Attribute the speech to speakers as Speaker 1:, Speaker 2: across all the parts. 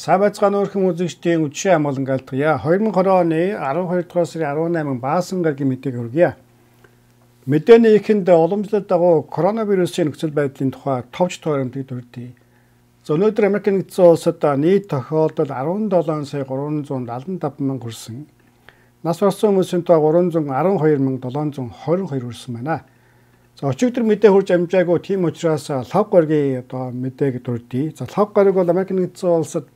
Speaker 1: Сайн байцгаана өрхөн үзэгчдийн үдшийн амгалан галдгая. 2020 оны 12 дугаар сарын 18 баасан гарагийн мэдээг хүргье. Мэдээний эхэнд уламжлалт дагуу коронавирусын нөхцөл байдлын тухай товч тойромтыг дүрдээ. Өнөөдөр Америк нэгдсэн улсад нийт тохиолдол 17 сая 375 мянга хүрсэн. Нас барсан хүмүүсийн тоо 312,722 хүрсэн байна. Өчигдөр мэдээ хурж амжаагүй тийм учраас лав гарагийн мэдээг дүрдээ. Лав гараг бол Америк нэгдсэн улсад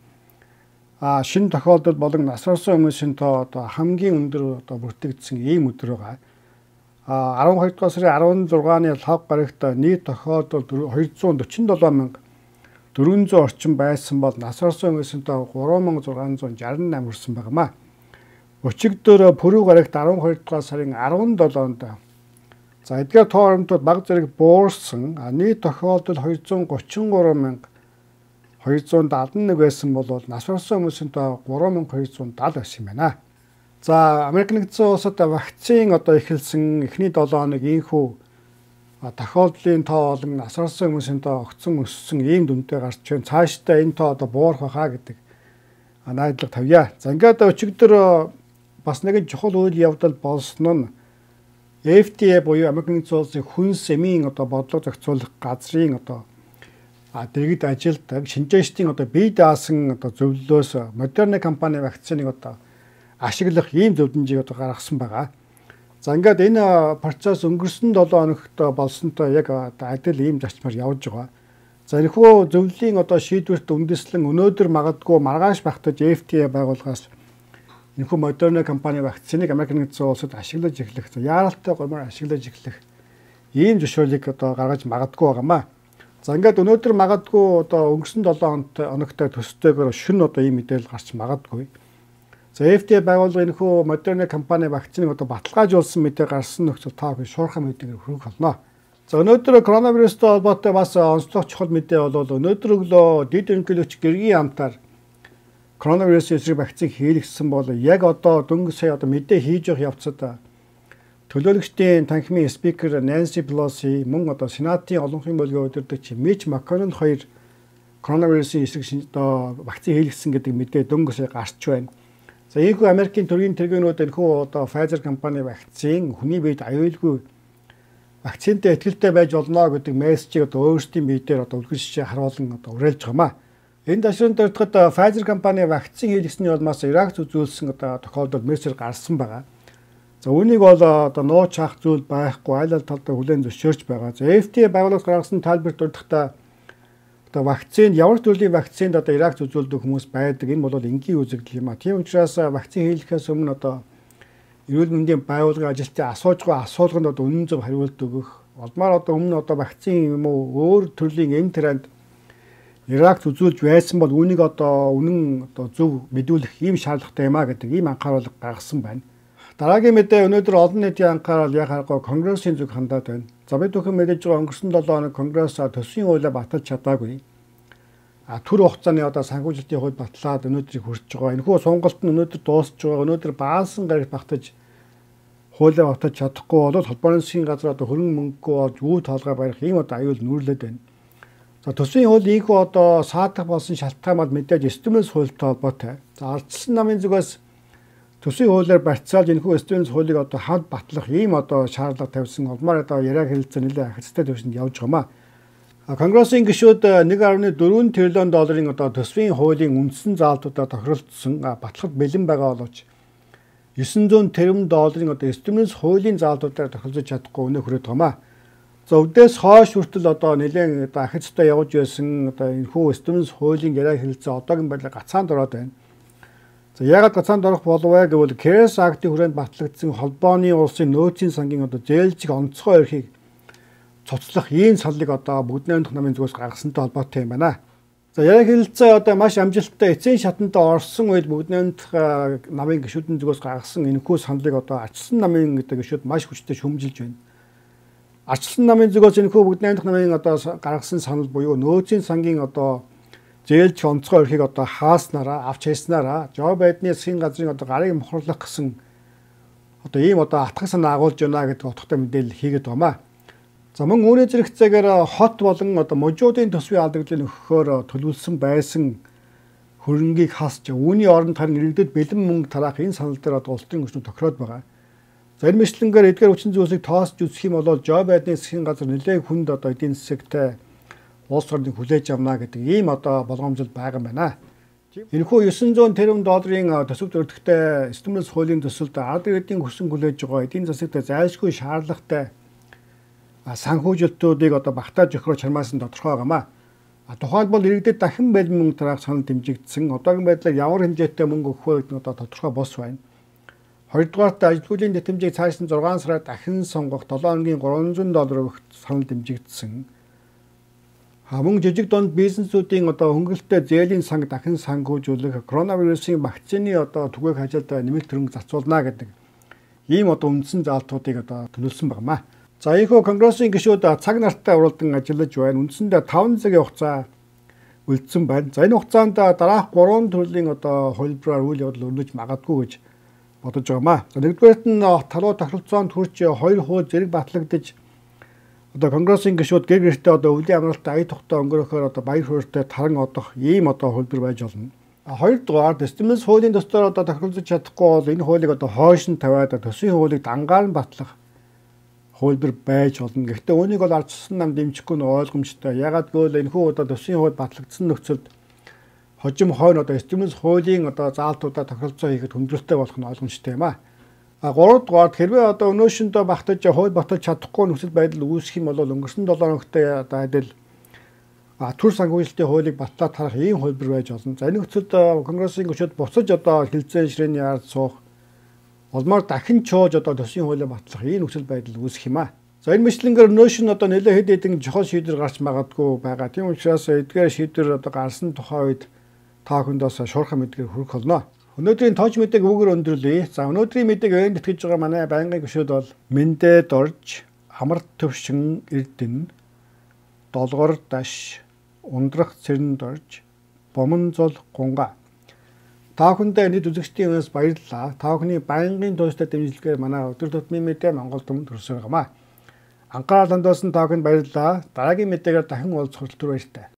Speaker 1: шинэ тохиолдол болон нас барсан хүмүүсийн тоо хамгийн өндөр бүртгэгдсэн ийм өдөр байгаа. 12 дугаар сарын 16-ны лав гарагт нийт тохиолдол 247,400 орчим байсан бол нас барсан хүмүүсийн тоо 3,668 хүрсэн байнамаа. Өчигдөр пүрэв гарагт 12 дугаар сарын 17-нд эдгээр тооромтууд баг зэрэг буурсан. Нийт тохиолдол 233,271 байсан бол нас барсан хүмүүсийн тоо 3,270 байсан юм байна. Америк нэгдсэн улсад вакцин эхэлсэн эхний 7 хоног ийхүү тохиолдлын тоо болон нас барсан хүмүүсийн тоо огцон өссөн ийм дүнтэй гарч байна. Цаашдаа энэ тоо буурах байхаа гэдэг найдлага тавья. Ингээд өчигдөр бас нэгэн чухал үйл явдал болсон нь FDA буюу Америк нэгдсэн улсын хүнс эмийн бодлого зохицуулах газрын дэргэд ажилтдаг шинжээчдийн бие даасан зөвлөлөөс Moderna компани вакциныг ашиглах ийм зөвлөмжийг гаргасан байгаа. Ингээд энэ процесс өнгөрсөн 7 хоногт болсонтой яг адил ийм зарчмаар явж байгаа. Энэхүү зөвлөлийн шийдвэрт үндэслэн өнөөдөр магадгүй маргааш багтаж FDA байгууллагаас энэхүү Moderna компани вакциныг Америк нэгдсэн улсад ашиглаж эхлэх, яаралтай гомоор ашиглаж эхлэх ийм зөвшөөрлийг гаргаж магадгүй байгаамаа. Ингээд өнөөдөр магадгүй өнгөрсөн 7 хоногтой төстэйгээр шөнө ийм мэдээлэл гарч магадгүй. FDA байгууллага энэхүү Moderna компани вакциныг баталгаажуулсан мэдээ гарсан нөхцөл та шуурхай мэдээгээр хүргэх болно. Өнөөдөр коронавирустай холбоотой бас онцлог чухал мэдээ бол өнөөдөр өглөө дэд ерөнхийлөгч гэргийн хамтаар коронавирусын эсрэг вакцин хийлгэсэн бол яг дөнгөж сая мэдээ хийж явах явцад төлөөлөгчдийн танхимын спикер Нэнси Пелоси мөн Сенатын олонхын бөлгийн удирдагч Мич Макконнелл хоёр коронавирусын эсрэг вакцин хийлгэсэн гэдэг мэдээ дөнгөж сая гарч байна. Ийхүү Америкийн төрийн тэргүүнүүд энэхүү Pfizer компани вакцин хүний биед аюулгүй вакцинтэй итгэлтэй байж болно гэдэг мессежийг өөрсдийн биедээр үлгэр шишээ харуулan уриалж байгаамаа. Энэ ташрын дөрөвдөд Pfizer компани вакцин хийлгэсний улмаас Иракт үзүүлсэн тохиолдол мессеж гарсан байгаа. Үүнийг бол нууц хаах зүйл байхгүй айл талдаа хүлээн зөвшөөрч байгаа. FDA байгууллагаас гаргасан тайлбарт дурдахтаа вакцинд ямар төрлийн вакцинд Иракт үзүүлдэг хүмүүс байдаг. Энэ бол энгийн үзэгдэл юм а. Тийм учраас вакцин хийлгэхээс өмнө эрүүл мэндийн байгууллагын ажилтны асууж байгаа асуулганд үнэн зөв хариулт өгөх. Олмаар өмнө вакцин юм уу өөр төрлийн эм тренд Иракт үзүүлж байсан бол үүнийг үнэн зөв мэдүүлэх ийм шаардлагатай юм а гэдэг ийм анхааруулга гаргасан байна. Дараагийн мэдээ өнөөдөр олон нийтийн анхаарал яг харахгүй Конгрессийн зүг хандаад байна. Бид бүхэн мэдэж байгаа өнгөрсөн 7 хоног Конгресс төсвийн хуулиа баталж чадаагүй. Түр хугацааны санхүүжилтийн хууль батлаад өнөөдрийг хүрч байгаа. Энэхүү сонголт нь өнөөдөр дуусч байгаа. Өнөөдөр баасан гарагт багтаж хуулиа баталж чадахгүй бол холбооны засгийн газар хөрөнгө мөнгөгүй болж үе тоолгой барих ийм аюул нүүрлээд байна. Төсвийн хууль ийхүү саадах болсон шалтгаан бол мэдээж стимулс хуультай холбоотой. Ардчилсан намын зүгээс төсвийн хуулиар барьцаалж энэхүү стимулс хуулийг хамт батлах ийм шаардлага тавьсан улмаар яриаг хэлэлцээ нэлээд ахицтай төвшөнд явж байгаамаа. Конгрессийн гишүүд 1.4 тэрлион долларын төсвийн хуулийн үндсэн заалтуудаа тохиролцсон батлахад бэлэн байгаа боловч 900 тэрбум долларын стимулс хуулийн заалтуудаар тохиролцож чадахгүй өнөө хүрээд байгаамаа. Өвдөөс хойш хүртэл нэлээд ахицтай явж байсан энэхүү стимулс хуулийн яриаг хэлэлцээ одоогийн байдлаар гацаанд ороод байна. Яагаад гацаанд орох болов вэ гэвэл CARES Act-ийн хүрээнд батлагдсан холбооны улсын нөөцийн сангийн зээлжих онцгой эрхийг цуцлах ийм саллыг бүгд найрамдах намын зүгээс гаргасантай холбоотой юм байна. Яриаг хэлэлцээ маш амжилттай эцсийн шатанд орсон үед бүгд найрамдах намын гишүүдийн зүгээс гаргасан энэхүү саналыг ардчилсан намын гишүүд маш хүчтэй шүмжилж байна. Ардчилсан намын зүгээс энэхүү бүгд найрамдах намын гаргасан санал буюу нөөцийн сангийн зээлж онцгой эрхийг хааснараа авч хайснараа Жо Байдны засгийн газрын гарыг мохорлох гэсэн ийм атгах санаа агуулж байна гэдэг утгатай мэдээлэл хийгээд байгаамаа. Мөн үүний зэрэгцээгээр хот болон мужуудын төсвийн алдагдлыг өгөхөөр төлөвлөсөн байсан хөрөнгийг хасч үүний оронд харин иргэдэд бэлэн мөнгө тараах энэ санал дээр одоо улс төрийн хүчнүүд тохироод байгаа. За энэ мэтлэнгээр эдгээр хүчин зүйлсийг тоосч үзэх юм бол Жо Байдны засгийн газар нэлээд хүнд одоо эдийн засагтай улс орныг хүлээж авна гэдэг ийм одоо болгоомжол байгаа юм байна. Энэхүү 900 тэрбум долларын төсөв төрөлхтөй стимулс хуулийн төсөлд ард иргэдийн хүссэн хүлээж байгаа эдийн засагт зайлшгүй шаардлагатай санхүүжилтүүдийг одоо багтааж өгөхөөр чармаасан тодорхой байгаамаа. Тухайд бол иргэдэд дахин бэлэн мөнгө тараах санал дэмжигдсэн. Одоогийн байдлаар ямар хэмжээтэй мөнгө өгөх вэ гэдэг нь одоо тодорхой бос байна. Хоёрдугаарт ажилтгуулийн тэмцээг цаашдын 6 сараар дахин сонгох 7 хоногийн $300 өгөх санал дэмжигдсэн. Мөн жижиг дунд бизнесүүдийн одоо хөнгөлөлтөй зээлийн санг дахин санхүүжүүлэх, коронавирусын вакцины одоо түгээх ажилд нэмэлт хөрөнгө зарцуулна гэдэг ийм одоо үндсэн заалтуудыг одоо төлөвлөсөн байна. За ийхүү Конгрессийн гишүүд цаг нартай уралдан ажиллаж байна. Үндсэндээ 5 цагийн хугацаа үлдсэн байна. За энэ хугацаанд дараах 3 төрлийн одоо хөлбраар үйл явдал өрнөж магадгүй гэж бодож байгаамаа. За нэгдүгээрт нь талуу тохиролцоонд хүрч 2 хууль зэрэг батлагдаж одоо Конгрессийн гишүүд гэр гэртээ одоо өвлийн амралтаа ая тухтай өнгөрөхөөр одоо баяр хууртай таран одох ийм одоо хөлбөр байж болно. Хоёрдугаар стимулс хуулийн төслөөр одоо тохиролцож чадахгүй бол энэ хуулийг одоо хойш нь тавиад төсвийн хуулийг дангаар нь батлах хөлбөр байж болно. Гэхдээ үүнийг бол ард тусан нам дэмжихгүй нь ойлгомжтой. Ягаад гэвэл энэхүү одоо төсвийн хууль батлагдсан нөхцөлд хожим хойно одоо стимулс хуулийн одоо заалтуудаа тохиролцоо хийхэд хүндрэлтэй болох нь ойлгомжтой юм аа. Гуравдугаар хэрвээ одоо өнөөшөндөө багтаж хууль баталж чадахгүй нөхцөл байдал үүсэх юм бол өнгөрсөн 7 хоногт одоо адил төр санхүүжилтийн хуулийг батлаад тарах ийм хөлбөр байж болно. За энэ нөхцөлд Конгрессийн гишүүд буцаж одоо хилцээ ширээний ард суух улмаар дахин чууж одоо төсвийн хуулийг батлах ийм нөхцөл байдал үүсэх юм аа. За энэ мэтлэнгээр өнөөшн одоо нэлээд хэд хэдэн чухал шийдвэр гарч магадгүй байгаа. Тийм учраас эдгээр шийдвэр одоо гарсан тухай үед та бүхэндээс шуурхай мэдгээр хүргэх болно. Өнөөдрийн тооч мэдээг өгөр өндөрлөе. За өнөөдрийн мэдээг өөнд итгэж байгаа манай байнгын гишүүд бол Мэндэ Дорж, Амар Төвшин Эрдэнэ, Долгор Даш, Ундрах Цэрэн Дорж, Бомонзол Гунга. Та бүхэндээ нийт үзэгчдийн өмнөөс баярлалаа. Та бүхний байнгын тууштай дэмжлэгээр манай өдөр тутмын мэдээ Монгол Түмэнд хүрсэн байгаамаа. Анхаарал хандуулсан та бүхэнд баярлалаа. Дараагийн мэдээгээр дахин уулзах хүртэл баяртай.